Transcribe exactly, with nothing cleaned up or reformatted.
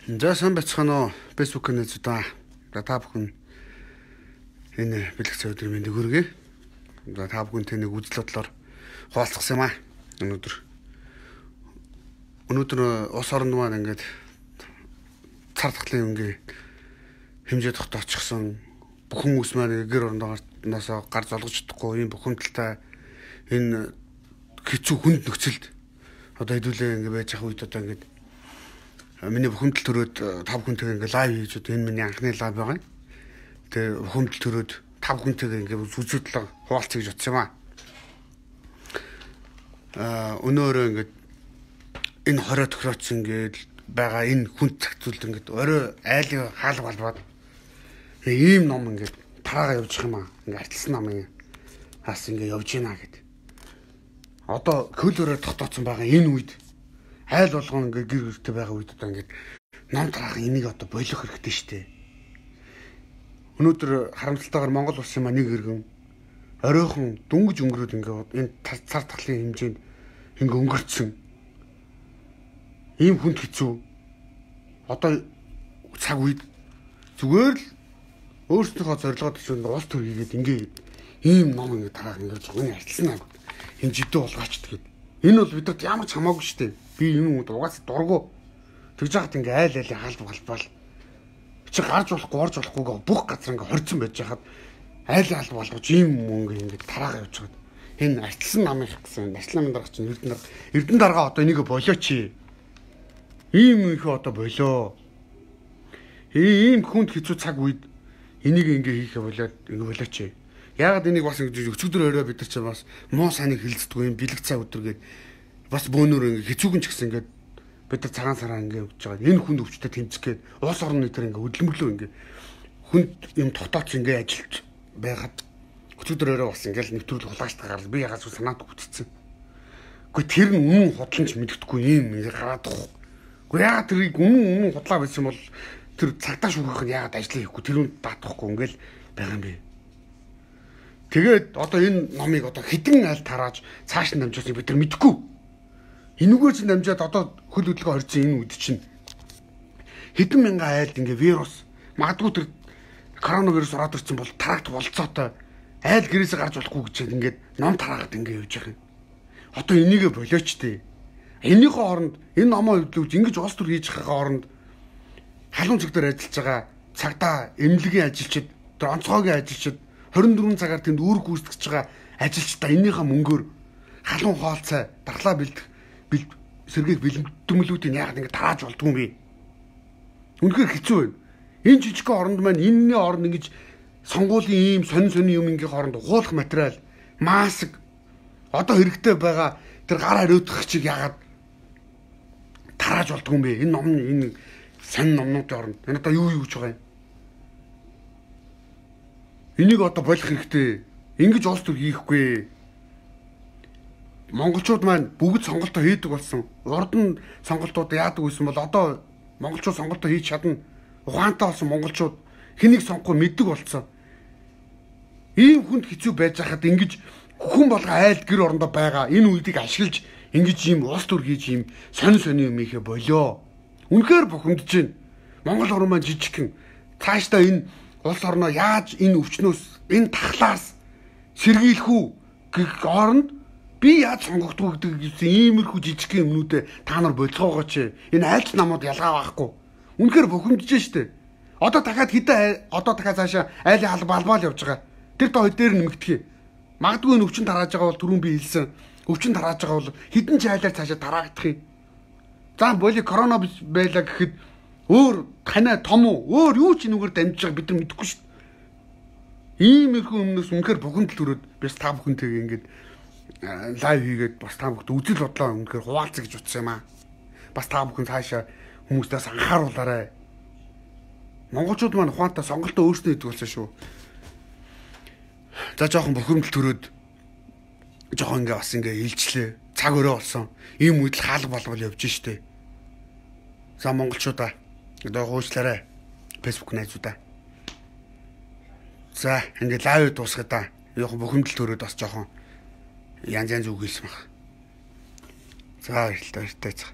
За сайн байцгаана уу Facebook-ын нэзүүдээ. Та бүхэн энэ бэлэгцээ өдрийн мэндийг хүргэе. За та бүхэн тэнийг үзэл бодлоор хуваалцсан юм аа. Өнөөдөр өнөөдөр ус оронд маань ингээд цар тахлын өнгийн хэмжээ тогтоочихсон бүхэн ус маань гэр орондоос гар золгож чадахгүй ийм бухимдалтай энэ хэцүү хүнд нөхцөлд одоо хэдүүлээ ингээд байж ах үед одоо ингээд миний бухимдал төрөөд тав хүнтэйгээ ингээ лайв хийж одоо энэ миний анхны лайв байгаа. Тэгээ бухимдал төрөөд тав хүнтэйгээ ингээ үзүүдлээ хуваалцъя гэж бодсон юм аа. Аа өнөөрөө ингээ энэ хорой тохироц ингээд байгаа энэ хүнд цагтуулд ингээ орой айлын хаал балбаад ийм ном ингээ тараага явуучих юм аа. Ингээ арчилсан намын хас ингээ явж гинэ гэд. Одоо хөлөөрөө тогтооцсон байгаа энэ үед айл болгон ингээ гэр гэртэй байгаа үед одоо ингээд ном тараах энийг одоо болох хэрэгтэй шүү дээ. Өнөөдөр харамсалтайгаар Монгол улсын маань нэг иргэн оройхон дүнгиж өнгөрөөд ингээ энэ цар тахлын хэмжээнд ингээ өнгөрцөн. Ийм хүнд хэцүү. Одоо цаг үед зүгээр л өөрсдийнхөө зорилгоод чинь улс төр хийгээд ингээ ийм ном ингээ тараах ингээ зөвхөн арчилсан аа. Энэ жидээ болгооч тэгээд. Энэ бол бидэд ямар ч хамаагүй шүү дээ. Би юм уу угаас дургу тэгж яхад ингээ айл айлын хаалт балбал чи гарч болохгүй орж болохгүй бүх газар ингээ хорцсон байж хахад айл хаалт болгож ийм мөнгө ингээ тараага явж чад. Энэ арчилсан намынх гэсэн арчилсан дарга чинь эрдэн дарга эрдэн дарга одоо энийг болооч. Ийм их одоо болоо. Ийм хүнд хэцүү цаг үед энийг ингээ хийхэ болоод ингээ болооч. Яагаад энийг бас ингээ өчигдөр орой бид нар ч бас муу саныг хилцдэггүй юм бэлэг цаа өдргээд бас бөөнөр ингээ хэцүүгэн ч гэсэн ингээ бид нар цагаан сараа ингээ өгч байгаа. Энэ хүнд өвчтөд тэмцгээд улс орны тэр ингээ хөдөлмөрлөө ингээ хүнд юм тогтооч ингээ ажилч байгаад өчигдөр орой бас ингээ нэвтрүүл хулгайчтай гарал би ягаад санаад үтцсэн. Гэхдээ тэр нь үнэн худланч мэддэхгүй юм ингээ гараад тах. Гэхдээ ягаад тэрийг үнэн үнэн худлаа байсан бол тэр цагтаа шүүгэх нь ягаад ажил хийхгүй тэр үнд даатахгүй ингээл байгаа юм бэ. Тэгээд одоо энэ номыг одоо хідэн айл тарааж цааш нь дамжуулсныг бид нар мэдэхгүй. Энэгээр чинь дамжаад одоо хөл хөдөлгөөн хорьсон энэ үед чинь хэдэн мянган айлд ингээ вирус магадгүй тэр коронавирус ороод ирсэн бол тарагт болцоотой айл гэрээсээ гарч болохгүй гэж ингээд ном тараагаад ингээ явж байгаа юм. Одоо энийгээ болооч тээ. Энийхээ оронд энэ номоо хөдлөвч ингэж улс төр хийж байгаа оронд халуун цэг дээр ажиллаж байгаа цагдаа эмнэлгийн ажилчид тэр онцгойгийн ажилчид хорин дөрвөн цагаар тэнд үүрэг гүйцэтгэж байгаа ажилчдаа энийхээ мөнгөөр халуун хоолцоо дархлаа бэлдэх бэлд сэргээх бэлтгэмлүүдийг яагаад ингэ тааж болдгүй юм бэ? Үнэхээр хэцүү байна. Энэ жижигхэн оронд маань энэний оронд ингэж сонгуулийн ийм сонин сонин юмгийн хооронд уулах материал, маск одоо хэрэгтэй байгаа тэр гар хариуцах чиг яагаад тааж болдгүй юм бэ? Энэ ном энэ сонин номнуудын оронд энэ одоо юу юу гэж байгаа юм? Энийг одоо болох хэрэгтэй. Ингэж улс төр хийхгүй. Монголчууд маань бүгд сонголтоо хийдэг болсон. Урд нь сонголтууд яадаг байсан бол одоо монголчууд сонголтоо хийж чадна. Ухаантай болсон монголчууд хэнийг сонгохгүй мэддэг болсон. Ийм хүнд хэцүү байж хахад ингэж хүн болго айл гэр орондоо байгаа энэ үеийг ашиглаж ингэж ийм улс төр хийж ийм сонин сонин юм ихэ болоо. Үнэхээр бухимдаж байна. Монгол орн маань жижигхэн. Цаашдаа энэ улс орноо яаж энэ өвчнөөс энэ тахлаас сэргийлэх үү гэх оронд би яаж сонгогдох гэдэг гэсэн иймэрхүү жижигхэн юмнуудэ та нар болцоогооч. Энэ айлч намууд ялгаа байхгүй. Үнэхээр бухимдаж штэ. Одоо дахиад хэдэн одоо дахиад цаашаа айлын хал балбаал явж байгаа. Тэр доо хэд дээр нэмэгдэхий. Магадгүй энэ өвчин тарааж байгаа бол түрүүн би хэлсэн. Өвчин тарааж байгаа бол хэдэн ч айлаар цаашаа тараагдах юм. За боли корона байлаа гэхэд өөр танай том уу өөр юу ч энэгээр дамжиж байгааг бид нар мэдэхгүй шүү дээ. Иймэрхүү өмнөөс үнэхээр бухимдал төрөөд бис та бүхэнтэйгээ ингээд лайв хийгээд бас та бүхэнд үзэл бодлоо үнэхээр хуваалцъя гэж утсан юм аа. Бас та бүхэн цаашаа хүмүүстээс анхааруулаарай. Монголчууд маань ухаантай сонголтоо өөрсдөө хийдэг болсон шүү. За жоохон бухимдал төрөөд жоохон ингээ бас ингээ хилчлээ. Цаг өрөө болсон. Ийм үед л хаалга болвол явж штэ. За монголчуудаа одоо хуучлаарай. Facebook найзуудаа. За ингээ лайв дуусгая да. Жоохон бухимдал төрөөд бас жоохон янз янз үг хэлсэн баг. За баярлалаа баяртай цаа.